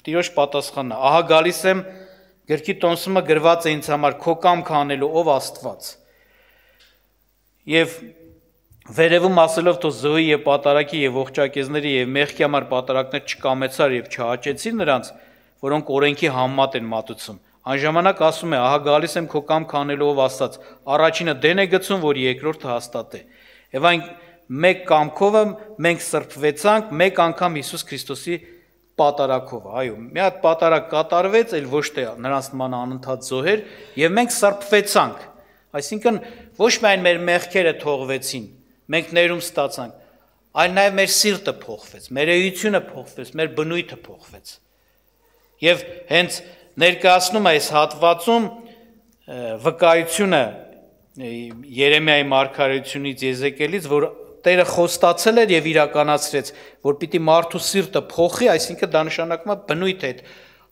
Տիրոջ պատասխանն է, ահա գալիս եմ, գրքի տոմսումը գրված է ինձ համար, քո կամքը անելու, ով Աստված։ Եվ վերևում ասելով, թող զոհի եւ պատարագի եւ ողջակեզների եւ մեղքի համար պատարագներ չկամեցար եւ չհաճեցի նրանց, որոնք օրենքի համեմատ են մատուցում։ Այն ժամանակ ասում է, ահա գալիս եմ քո կամքը անելու, ով Աստված, առաջինը դեն է գցում, որ երկրորդը հաստատե։ Եվ այն մեկ կամքով մենք սրբվեցանք, մեկ անգամ Հիսուս Քրիստոսի պատարագով, այո, մի հատ պատարագ կատարվեց, այլ ոչ թե նրանց նման անընդհատ զոհեր, եւ մենք սրբվեցանք։ Այսինքն ոչ միայն մեր մեղքերը թողվեցին, մենք ներում ստացանք, այլ նաեւ մեր սիրտը փոխվեց, մեր էությունը փոխվեց, մեր բնույթը փոխվեց։ Եվ հենց ներկայացնում է այս հատվածում վկայությունը Երեմիայի մարգարեությունից, Եզեկիելից, որ Տերը խոստացել էր եւ իրականացրեց, որ պիտի մարդու սիրտը փոխի, այսինքն դա նշանակում է բնույթ է,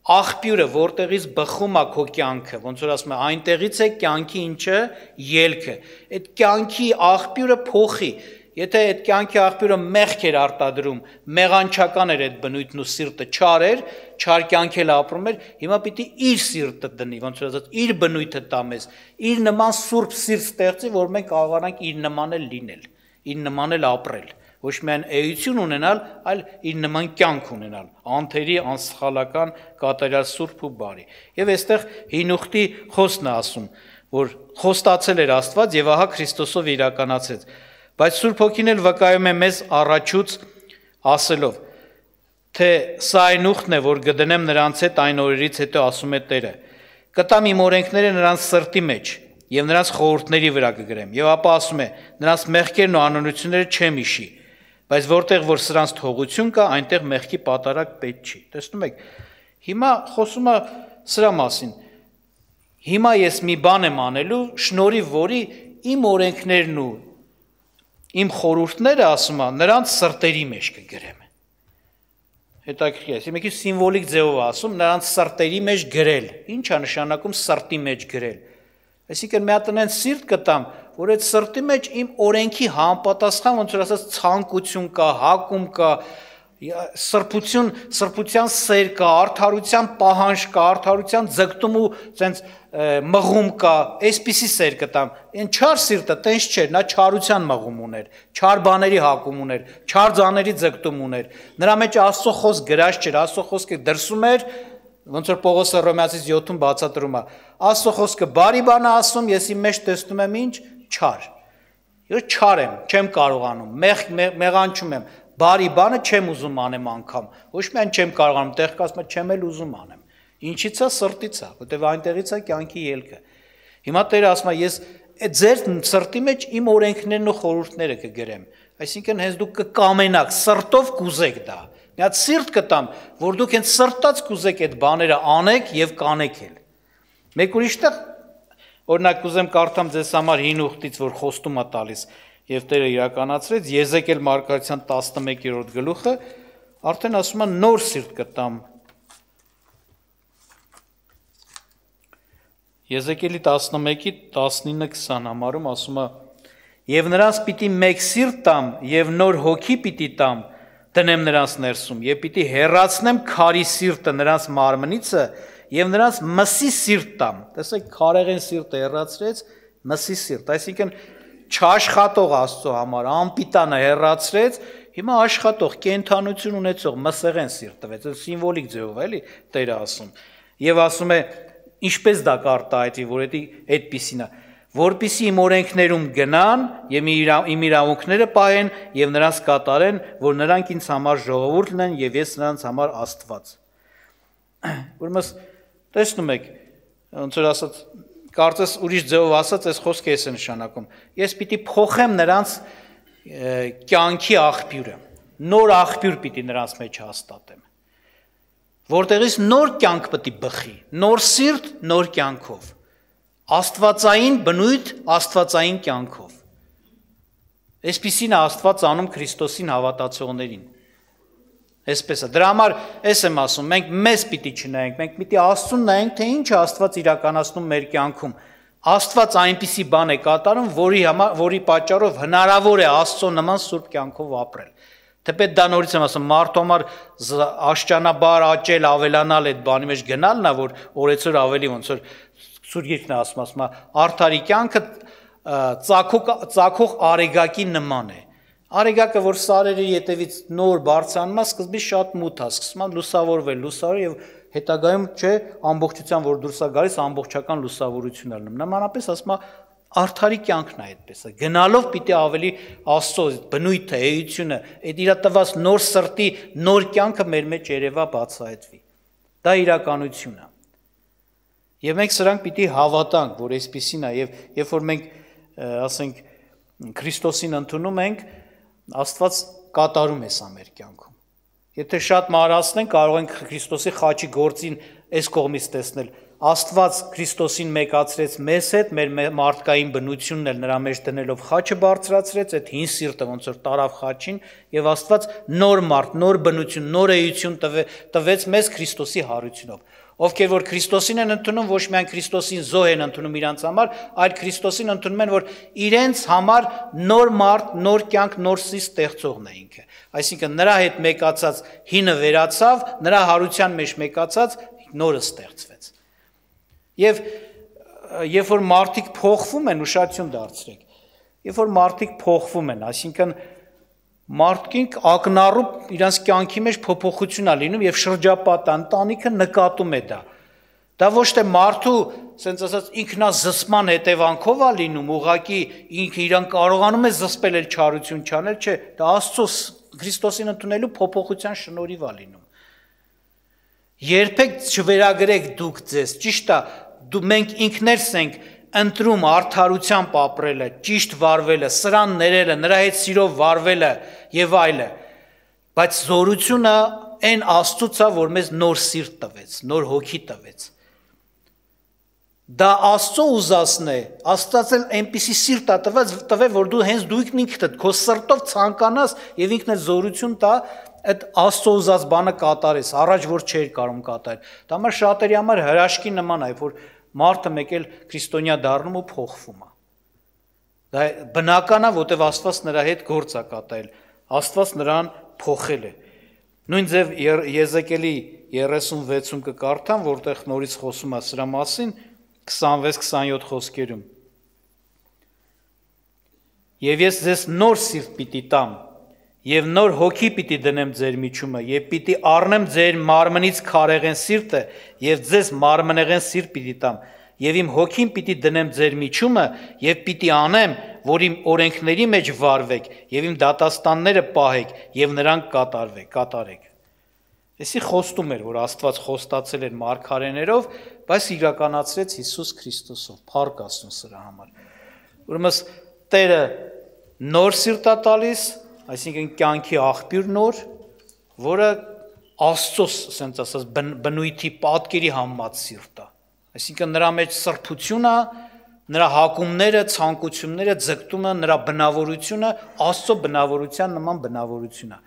աղբյուրը, որտեղից բխում է քո կյանքը, ոնց որ ասում է, այնտեղից է կյանքի ինչը ելքը։ Այդ կյանքի աղբյուրը փոխի, եթե այդ կյանքի աղբյուրը մեղք էր արտադրում, մեղանչական էր այդ բնույթն ու սիրտը չար էր, չար կյանք էլ ապրում էր, հիմա պիտի իր սիրտը դնի, ոնց որ ասած, իր բնույթը տա մեզ, իր նման սուրբ սիրտ ստեղծի, որ մենք կարողանանք իր նման էլ լինել, իր նման էլ ապրել, ոչ միայն էություն ունենալ, այլ իր նման կյանք ունենալ, անթերի, անսխալական, կատարյալ սուրբ ու բարի։ Եվ այստեղ Հինուխտի խոսքն է ասում, որ խոստացել էր Աստված եւ ահա Քրիստոսով իրականացեց։ Բայց Սուրբ Հոգին էլ վկայում է մեզ առաջուց ասելով, թե սա այն ուխտն է, որ կդնեմ նրանց հետ այն օրերից հետո, ասում է Տերը, կտամ իմ օրենքները նրանց սրտի մեջ եւ նրանց խորհուրդների վրա կգրեմ։ Եվ ապա ասում է, նրանց մեղքերն ու անօրենությունները չեմ հիշի, բայց որտեղ որ սրանց թողություն կա, այնտեղ մեղքի պատարագ պետք չի։ Տեսնում եք, հիմա խոսում է սրա մասին։ Հիմա ես մի բան եմ անելու, շնորհիվ որի իմ օրենքներն ու իմ խորհուրդները, ասում է, նրանց սրտերի մեջ կգրեմ։ Հետաքրքիր է, մեկի սիմվոլիկ ձևով ասում, նրանց սրտերի մեջ գրել։ Ինչ է նշանակում սրտի մեջ գրել։ Այսինքն մի հատ այնց սիրտ կտամ, որ այդ սրտի մեջ իմ օրենքի համապատասխան, ոնց որ ասած, ցանկություն կա, հակում կա, Սրբության սեր կա, արդարության պահանջ կա, արդարության ձգտում ու ցենց մղում կա, այսպիսի սեր կտամ։ Այն չար սիրտը տենց չէր, նա չարության մղում ուներ, չար բաների հակում ուներ, չար ձաների ձգտում ուներ։ Նրա մեջ Աստծո խոսք գրած չէր, Աստծո խոսքը դրսում էր, ոնց որ Պողոսը Հռոմեացիս 7-ում բացատրում է։ Աստծո խոսքը բարի բան է ասում, ես իմ մեջ տեսնում եմ ինչ չար։ Ես չար եմ, չեմ կարողանում, մեղանչում եմ, բարի բանը չեմ ուզում անեմ անգամ, ոչ միայն չեմ կարողանում, տեղ կասում եմ, չեմ էլ ուզում անեմ։ Ինչից է, սրտից է, որտեվ այնտեղից է կյանքի ելքը։ Հիմա Տերը ասում է, ես ձեր սրտի մեջ իմ օրենքներն ու խորհուրդները կգրեմ, այսինքն հենց դուք կկամենաք, սրտով կուզեք դա։ Մի հատ սիրտ կտամ, որ դուք հենց սրտած կուզեք այդ բաները անեք եւ կանեք էլ։ Մեկ ուրիշտեղ օրինակ կուզեմ կարդամ ձեզ համար հին ուխտից, որ խոստում է տալիս, եւ Տերը իրականացրեց Եզեկիել մարգարեության 11-րդ գլուխը, արդեն ասում է նոր սիրտ կտամ։ Եզեկիելի 11-ի 19-20 համարում ասում է. «Եվ նրանց պիտի մեկ սիրտ տամ, եւ նոր հոգի պիտի տամ, դնեմ նրանց ներսում, եւ պիտի հեռացնեմ քարի սիրտը նրանց մարմնիցը, եւ նրանց մսի սիրտ տամ»։ Տեսեք, քարեղեն սիրտը հեռացրեց, մսի սիրտ, այսինքն չաշխատող Աստծո համար, անպիտանը հեռացրեց, հիմա աշխատող, կենդանություն ունեցող մսեղեն սիրտ տվեց, սիմվոլիկ ձևով էլի Տերը ասում։ Եվ ասում է, ինչպես դա կարտահայտվի, որ այդպիսին է, որպիսի իմ օրենքներում գնան եւ իմ իրավունքները պահեն եւ նրանց կատարեն, որ նրանք ինձ համար ժողովուրդ լինեն եւ ես նրանց համար Աստված։ Ուրեմն տեսնում եք, ոնց որ ասած, կարծես ուրիշ ձևով ասած, այս խոսքը էս է նշանակում։ Ես պիտի փոխեմ նրանց կյանքի աղբյուրը, նոր աղբյուր պիտի նրանց մեջ հաստատեմ, որտեղից նոր կյանք պիտի բխի, նոր սիրտ, նոր կյանքով, աստվածային բնույթ, աստվածային կյանքով։ Այսպիսին է Աստված անում Քրիստոսին հավատացողներին։ Այսպես է, դրա համար ես եմ ասում, մենք մեզ պիտի չնայենք, մենք պիտի Աստծուն նայենք, թե ինչ է Աստված իրականացնում մեր կյանքում։ Աստված այնպիսի բան է կատարում, որի պատճառով հնարավոր է Աստծո նման սուրբ կյանքով ապրել։ Թեպետ դա նորից եմ ասում, մարդու համար աշճանաբար աճել, ավելանալ այդ բանի մեջ գնալն է, որ օրեցօր ավելի ոնց որ Սուրբ Գիրքն է ասում, արդարի կյանքը ծագող արեգակի նման է։ Արեգակը, որ սարերի ետևից նոր բարձրանում է, սկզբից շատ մութ է, սկսում է լուսավորվել, եւ հետագայում չէ, ամբողջության, որ դուրս է գալիս, ամբողջական լուսավորություն է լինում։ Նմանապես ասում է, արդարի կյանքն է այդպես է։ Գնալով պիտի ավելի Աստծո բնույթը, էությունը, այդ իր տված նոր սրտի, նոր կյանքը մեր մեջ երևա բացահայտվի։ Դա իրականություն է։ Եվ մենք սրանք պիտի հավատանք, որ այսպիսին է, եւ երբ որ մենք ասենք Քրիստոսին ընդունում ենք, Աստված կատարում է սա մեր կյանքում։ Եթե շատ մանրացնենք, կարող ենք Քրիստոսի խաչի գործին այս կողմից տեսնել։ Աստված Քրիստոսին մեկացրեց մեզ հետ, մեր մարդկային բնությունն էլ նրա մեջ դնելով խաչը բարձրացրեց, այդ հին սիրտը ոնց որ տարավ խաչին, եւ Աստված նոր մարդ, նոր բնություն, նոր էություն տվեց մեզ Քրիստոսի հարությունով։ Ովքեր որ Քրիստոսին են ընդունում, ոչ միայն Քրիստոսին զոհ են ընդունում իրանց համար, այլ Քրիստոսին ընդունում են, որ իրենց համար նոր մարդ, նոր կյանք, նոր սիրտ ստեղծողն է ինքը։ Այսինքն նրա հետ մեկացած հինը վերացավ, նրա հարության մեջ մեկացած նորը ստեղծվեց։ Եվ երբ որ մարդիկ փոխվում են, ուշադրություն դարձրեք, երբ որ մարդիկ փոխվում են, այսինքն մարդիկ ակնառու իրանց կյանքի մեջ փոփոխություն է լինում եւ շրջապատը, ընտանիքը նկատում է դա։ Դա ոչ թե մարդու, ասենց ասած, ինքնազսպման հետևանքով է լինում, ուղղակի ինքը իրան կարողանում է զսպել էլ չարություն չանել, չէ, դա Աստծո Քրիստոսին ընդունելու փոփոխության շնորհիվ է լինում։ Երբեք չվերագրեք դուք ձեզ, ճիշտ է, մենք ինքներս ենք ընտրում արդարությամբ ապրելը, ճիշտ վարվելը, սրան ներելը, նրա հետ սիրով վարվելը եւ այլը, բայց զորությունը այն Աստծուց է, որ մեզ նոր սիրտ տվեց, նոր հոգի տվեց։ Դա Աստծո ուզածն է, Աստված էլ այնպիսի սիրտ է տվել, որ դու հենց դու ինքնդ քո սրտով ցանկանաս եւ ինքն էլ զորություն տա այդ Աստծո ուզած բանը կատարես, առաջ որ չէր կարող կատարել։ Դա համար շատերի համար հրաշքի նման է, որ մարդը մեկ էլ քրիստոնյա դառնում ու փոխվում է։ Դա բնական է, որտեղ Աստված նրա հետ գործ է կատարել, Աստված նրան փոխել է։ Նույն ձև Եզեկիելի 36-ում կկարդամ, որտեղ նորից խոսում է սրա մասին, 26-27 խոսքերում։ Եվ ես ձեզ նոր սիրտ պիտի տամ, եւ նոր հոգի պիտի դնեմ ձեր միջումը, եւ պիտի առնեմ ձեր մարմնից քարեղեն սիրտը, եւ ձեզ մարմնեղեն սիրտ պիտի տամ, եւ իմ հոգին պիտի դնեմ ձեր միջումը, եւ պիտի անեմ, որ իմ օրենքների մեջ վարվեք, եւ իմ դատաստանները պահեք, եւ նրանք կատարեք։ Էսի խոստում էր, որ Աստված խոստացել էր մարգարեներով, բայց իրականացրեց Հիսուս Քրիստոսով, փառք Աստծուն սրա համար։ Ուրեմն Տերը նոր սիրտ է տալիս, այսինքն կյանքի աղբյուր նոր, որը Աստծոս, ասենք ասած, բնույթի պատկերի համած սիրտ է։ Այսինքն նրա մեջ սրբությունը, նրա հակումները, ցանկությունները, ձգտումը, նրա բնավորությունը Աստծո բնավորության նման բնավորություն է։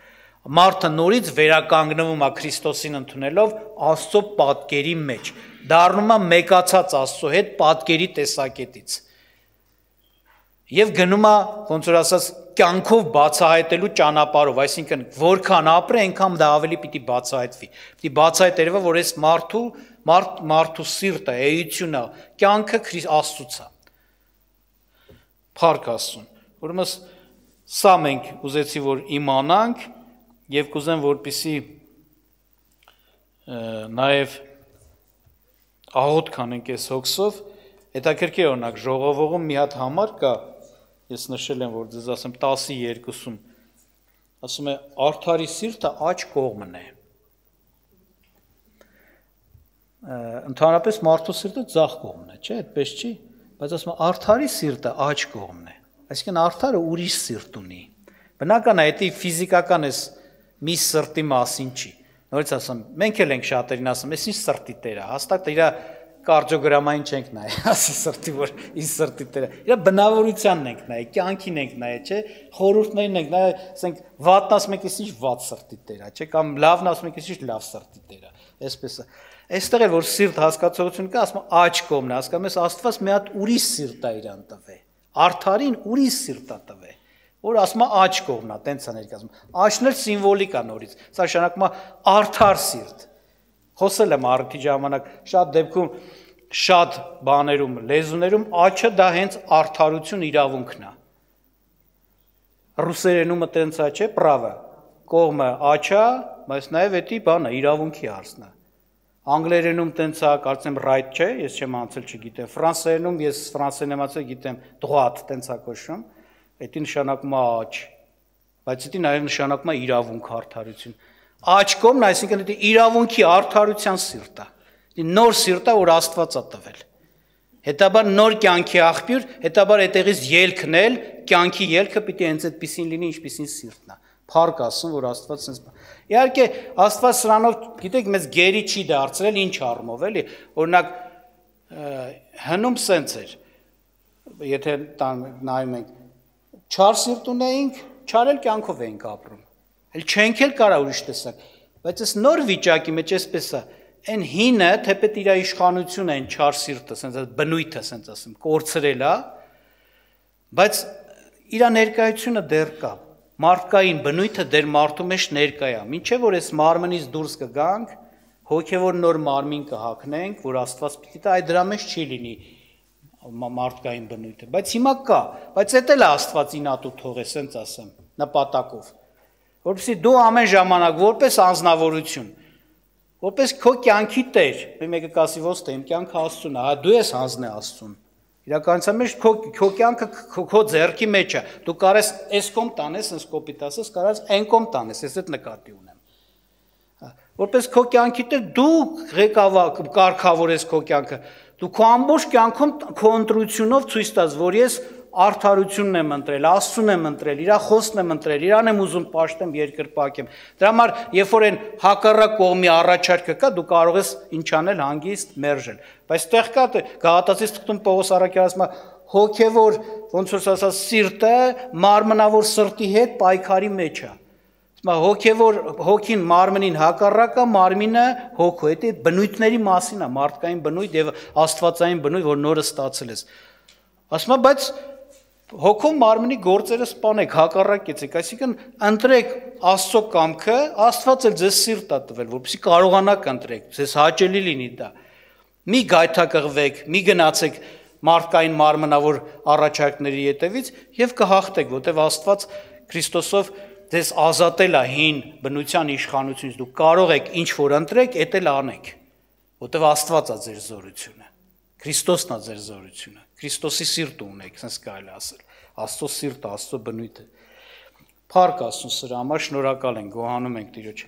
Մարդը նորից վերականգնվում է Քրիստոսին ընդունելով Աստծո պատկերի մեջ, դառնում է մեկացած Աստծո հետ պատկերի տեսակետից։ Եվ գնում է, ոնց որ ասած, կյանքով բացահայտելու ճանապարհով, այսինքն որքան ապրի, այնքան դա ավելի պիտի բացահայտվի։ Պիտի բացահայտվի, որ այս մարդու սիրտը, էությունը, կյանքը Աստծուց է։ Փառք Աստծուն։ Ուրեմն սա մենք ուզեցի որ իմանանք եւ կուզեմ որպեսի նաեւ աղոթ կանենք այս հոգսով, հետաքրքիր օրինակ ժողովողում մի հատ համար կա, ես նշել եմ որ ձեզ ասեմ 10:2-ում ասում է արդարի սիրտը աջ կողմն է։ Ընդհանրապես մարդու սիրտը ձախ կողմն է, չէ՞, այդպես չի, բայց ասում է արդարի սիրտը աջ կողմն է։ Այսինքն արդարը ուրիշ սիրտ ունի։ Բնական է, դա ֆիզիկական է մի սրտի մասին չի։ Նորից ասում, մենք էլ ենք շատերին ասում, այս ինչ սրտի տեր է, հաստատ իր կարդիոգրամային չենք նայ, ասի սրտի որ ինչ սրտի տեր է։ Իր բնավորությանն ենք նայ, կյանքին ենք նայ, չէ՞, խորհուրդներին ենք նայ, ասենք վատն ասում եք, ինչ վատ սրտի տեր է, չէ՞, կամ լավն ասում եք, ինչ լավ սրտի տեր է։ Այսպես է։ Այստեղ էլ որ սիրտ հասկացողություն կա, ասում աջ կողմն է, հասկանում ես Աստված մի հատ ուրիշ սիրտ է իրան տվել։ Արդարին ուրիշ սիրտ է տվել, որ ասում է աջ կողմն է, տենց է ներկայացում։ Աջն էլ սիմվոլիկ է նորից։ Սա նշանակում է արդար սիրտ։ Խոսել եմ արդի ժամանակ շատ դեպքում շատ բաներում, լեզուներում աջը դա հենց արդարություն իրավունքն է։ Ռուսերենում տենց է, չէ՞, պրավը, կողմը աջա, բայց նաև էդի բանը իրավունքի հարցն է։ Անգլերենում տենց է, կարծեմ right չէ, ես չեմ անցել, չգիտեմ։ Ֆրանսերենում ես ֆրանսերեն եմ անցել, գիտեմ, droit տենց է կոչվում, դա նշանակում է աջ, բայց դա նաև նշանակում է իրավունք, արդարություն։ Աջ կողմն, այսինքն դա իրավունքի արդարության սիրտ է։ Դա նոր սիրտ է, որ Աստված է տվել։ Հետաբար նոր կյանքի աղբյուր, հետաբար այդտեղից ելքն էլ, կյանքի ելքը պիտի հենց այդպեսին լինի, ինչպեսին սիրտն է։ Փառք Աստծուն, որ Աստված sense։ Իհարկե, Աստված սրանով, գիտեք, մեզ գերի չի դարձրել, ինչ առումով, էլի։ Օրինակ, հնում sense էր։ Եթե նայում ենք, չար սիրտ ունեինք, չար էլ կյանքով էինք ապրում։ Էլ չենք էլ կարա ուրիշ տեսակ, բայց այս նոր վիճակի մեջ էսպես է, այն հինը, թեպետ իր իշխանությունը, այն չար սիրտը, sense բնույթը, sense ասեմ, կորցրել է, բայց իր ներկայությունը դեռ կա։ Մարդկային բնույթը դեր մարդու մեջ ներկա է։ Մինչև որ այս մարմնից դուրս կգանք, հոգևոր նոր մարմին կհագնենք, որ Աստված պիտի տա, այդ դրա մեջ չի լինի մարդկային բնույթը, բայց հիմա կա, բայց դա էլ է Աստված ինատու թողե, sense ասեմ, նպատակով։ Որպեսզի դու ամեն ժամանակ որպես անձնավորություն, որպես քո կյանքի տեր, մեկը կասի ոնց թե իմ կյանքը Աստծուն է, հա դու ես հանձն է Աստծուն։ Իրականության մեջ քո կյանքը քո ձեռքի մեջ է։ Դու կարես այս կողմ տանես, այս կոպիտ ասես, կարաս այն կողմ տանես, ես այդ նկատի ունեմ։ Որպես քո կյանքի տեր դու ղեկավար կարգավորես քո կյանքը։ Դու քո ամբողջ կյանքում քո ընտրությունով ցույց տաս, որ ես արդարությունն եմ ընտրել, Աստծուն եմ ընտրել, իր խոսքն եմ ընտրել, իրան եմ ուզում պաշտեմ, երկրպագեմ։ Դրա համար, երբ որ այն հակառակ կողմի առաջարկը կա, դու կարող ես ինչ անել, հանգիստ մերժել։ Բայց տեղ կա Գաղատացիս թղթում Պողոս առաքյալը ասում է, հոգևոր, ոնց որ ասած, սիրտը մարմնավոր սրտի հետ պայքարի մեջ է։ Հոգևոր հոգին մարմնին հակառակը, մարմինը հոգու, դա բնույթների մասին է, մարդկային բնույթ եւ աստվածային բնույթ, որ նորը ստացել ես։ Ասում է, բայց Հոգում մարմնի գործերը սպանեք, հակառակեցեք, այսինքն ընտրեք Աստծո կամքը, Աստված էլ ձեզ սիրտ է տվել, որպեսզի կարողանաք ընտրեք, ձեզ հաճելի լինի դա։ Մի գայթակղվեք, մի գնացեք մարդկային մարմնավոր առաջարկների ետևից եւ կհաղթեք, որտեղ Աստված Քրիստոսով ձեզ ազատել է հին բնության իշխանությունից, դուք կարող եք ինչ որ ընտրեք, էդ էլ անեք, որտեղ Աստված է ձեր զորությունը, Քրիստոսն է ձեր զորությունը, Քրիստոսի սիրտը ունեք, ասես կարելի ասել, Աստծո սիրտը, Աստծո բնույթը։ Փառք Աստծուն սրա համար, շնորհակալ ենք, գոհանում ենք Տիրոջ,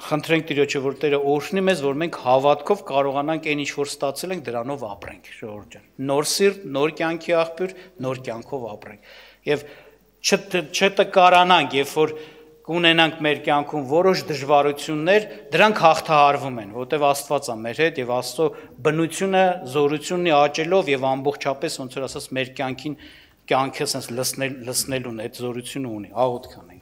խնդրենք Տիրոջը, որ Տերը օրհնի մեզ, որ մենք հավատքով կարողանանք այն ինչ որ ստացել ենք, դրանով ապրենք, ժողովուրդ ջան։ Նոր սիրտ, նոր կյանքի աղբյուր, նոր կյանքով ապրենք։ Եվ չտկարանանք, երբ որ կունենանք մեր կյանքում որոշ դժվարություններ, դրանք հաղթահարվում են, որտեղ Աստված է մեր հետ եւ Աստծո բնությունը, զորությունն աճելով եւ ամբողջապես ոնց որ ասած մեր կյանքին կյանքը sense լցնելուն այդ զորությունը ունի, աղոթք անենք։